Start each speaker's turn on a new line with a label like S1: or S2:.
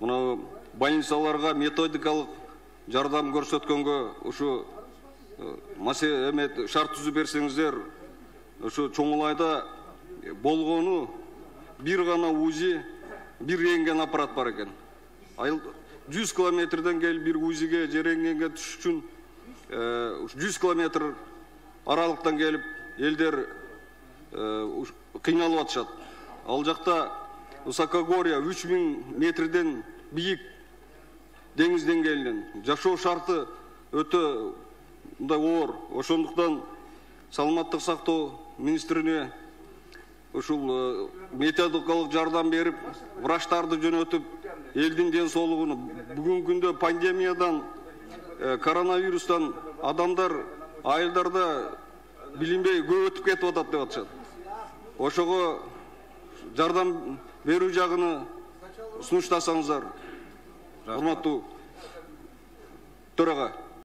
S1: мына больницаларга методикалык жардам көрсөткөнгө ушу шарт түзүп берсеңиздер, ушу Чоңулайда болгону бир гана УЗИ, бир рентген аппарат бар экен. 100 километрден келип бир УЗИге же рентгенге түшүш үчүн 100 километр аралыктан келип элдер кыйналып атышат. Ал жакта высокогорье 3000 метрден бийик деңиз деңгээлинен жашоо шарты өтө мындай оор. Ошондуктан саламаттык сактоо министрине ушул методикалык жардам берип, врачтарды жөнөтүп, элдин ден соолугуну бүгүнкү күндө пандемиядан, коронавирустан адамдар айылдарда билинбей көп өтүп кетип атат деп атышат. Ошого жардам берүү жагыны сунуштасаңыздар, урматтуу төрага.